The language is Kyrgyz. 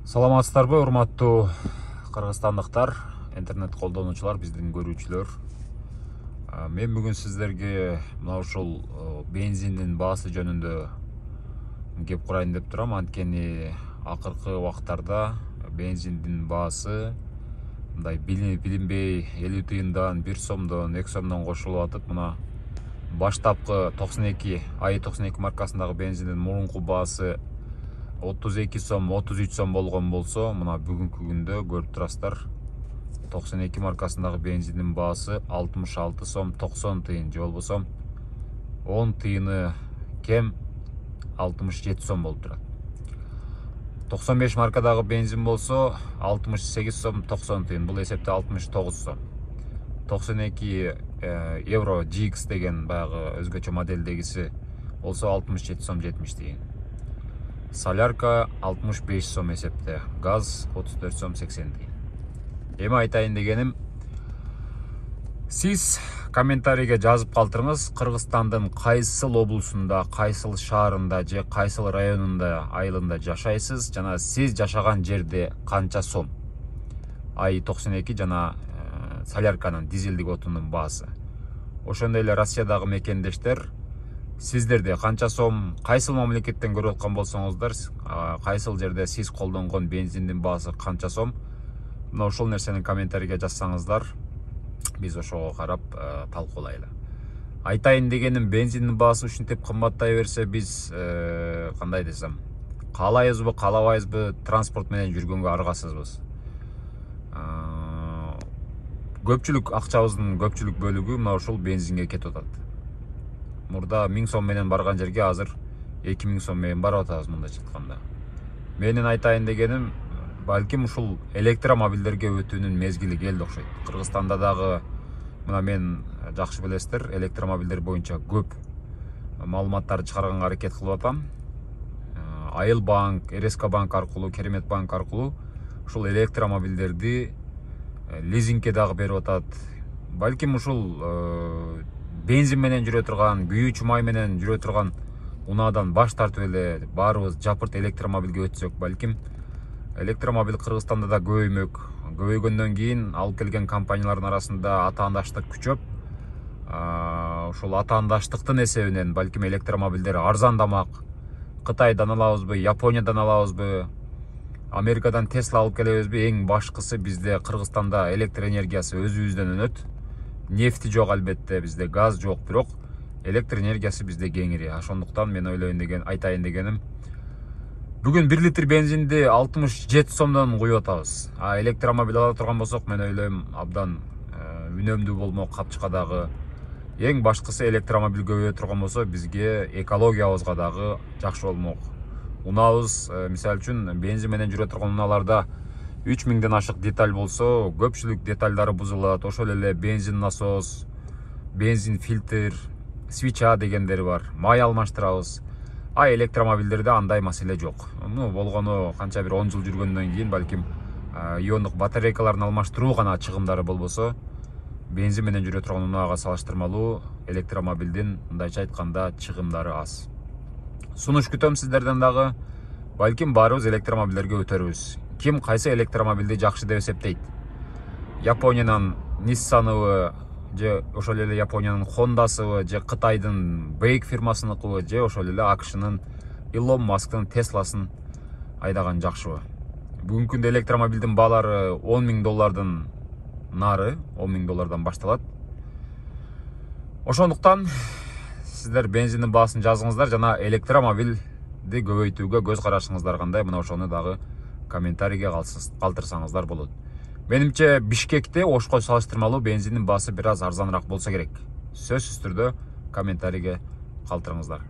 Саламатсыздарбы, урматтуу кыргызстандыктар, интернет колдонуучулар, биздин көрүүчүлөр. Мен бүгүн сиздерге мына ушул бензиндин баасы жөнүндө кеп курайын деп турам. Анткени акыркы убактарда бензиндин баасы мындай билинбей 50 тыйындан, 1 сомдон, 2 сомдон кошулуп атып, мына баштапкы 92 92 маркасындагы бензиндин мурунку баасы 32 сом, 33 сом болгон болсо, мына бүгүнкү күндө көрүп турасыздар, 92 маркасындагы бензиндин баасы 66 сом 90 тыйын, же болбосо 10 тыйыны кем 67 сом болуп турат. 95 маркадагы бензин болсо 68 сом 90 тыйын, бул эсепте 69 сом. 92 евро GX деген баягы өзгөчө модельдегиси болсо 67 сом 70 тыйын. Солярка 65 сом эсепте, газ 34 сом 80 тыйын. Эми айтайын дегеним, сиз комментарийге жазып калтырыңыз, Кыргызстандын кайсыл облусунда, кайсыл шаарында же кайсыл районунда, айылында жашайсыз жана сиз жашаган жерде канча сом? Ай 92 жана солярканын, дизелдик отунун баасы. Ошондой эле Россиядагы мекендештер, сиздерде канча сом, кайсыл мамлекеттен көрүп аткан болсоңуздар, кайсыл жерде сиз колдонгон бензиндин баасы канча сом? Мына ошол нерсени комментарийге жазсаңыздар, биз ошого карап талкуулайлы. Айтайын дегеним, бензиндин баасы ушинтип кымбаттай берсе, биз кандай десем, каалайбызбы, каалабайбызбы, транспорт менен жүргөнгө аргасызбыз. Көпчүлүк акчабыздын көпчүлүк бөлүгү мына ушул бензинге кетип атат. Мурда 1000 сом менен барган жерге азыр 2000 сом менен барып атабыз, мындайча айтканда. Менин айтайын дегеним, балким ушул электромобилдерге өтүүнүн мезгили келди окшойт. Кыргызстанда дагы, мына мен жакшы билесиздер, электромобилдер боюнча көп маалыматтарды чыгарганга аракет кылып атам. Айыл банк, РСК банк аркылуу, Керемет банк аркылуу ушул электромобилдерди лизингке дагы берип атат. Балким ушул бензин менен жүрө турган, күйүүчү май менен жүрө турган унаадан баш тартып эле баарыбыз жапырт электромобилге өтсөк, балким электромобил Кыргызстанда да көбөймөк. Көбөйгөндөн кийин алып келген компаниялардын арасында атаандаштык күчөп, ушул атаандаштыктын эсебинен балким электромобилдер арзандамак. Кытайдан алабызбы, Япониядан алабызбы, Америкадан Tesla алып келебизби? Эң башкысы, бизде Кыргызстанда электр энергиясы өзүбүздөн өнөт. Нефти жок, албетте, бизде газ жок, бирок электр энергиясы бизде кеңири. Ошондуктан мен айтайын дегеним, бүгүн 1 литр бензинди 67 сомдон куюп атабыз. Электромобил ала турган болсок, мен ойлойм, абдан үнөмдүү болмок, капчыкка дагы. Эң башкысы, электромобил көбөйө турган болсо, бизге экологиябызга дагы жакшы болмок. Унаабыз, мисалы үчүн, бензин менен жүрө турган унааларда 3000ден ашык деталь болсо, көпчүлүк детальдары бузулат. Ошол эле бензин насос, бензин фильтр, свеча дегендери бар. Май алмаштырабыз. Электромобилдерде андай маселе жок. Болгону канча бир 10 жыл жүргөндөн кийин балким иондук батарейкаларын алмаштыруу гана чыгымдары болбосо, бензин менен жүрө турган унаага салыштырмалуу электромобилдин, мындайча айтканда, чыгымдары аз. Сунуш күтөм сиздерден дагы. Балким баарыбыз электромобилдерге өтөрбүз. Ким кайсы электромобилди жакшы деп эсептейт? Япониянын Nissan'ыбы, же ошол эле Япониянын Honda'сыбы, же Кытайдын Бейк фирмасыныкыбы, же ошол эле AQS'нын Илон Масктын Tesla'сын айдаган жакшыбы? Бүгүнкү күндө электромобилдин баалары $10,000 нары, $10,000 башталат. Ошондуктан сиздер бензиндин баасын жазыңыздар жана электромобилди көбөйтүүгө көз карашыңыздар кандай, мына ошону дагы комментарийге калтырсаңыздар болот. Менимче Бишкекте Ошко салыштырмалуу бензиндин баасы бир аз арзаныраак болсо керек. Сөзсүз түрдө комментарийге калтырыңыздар.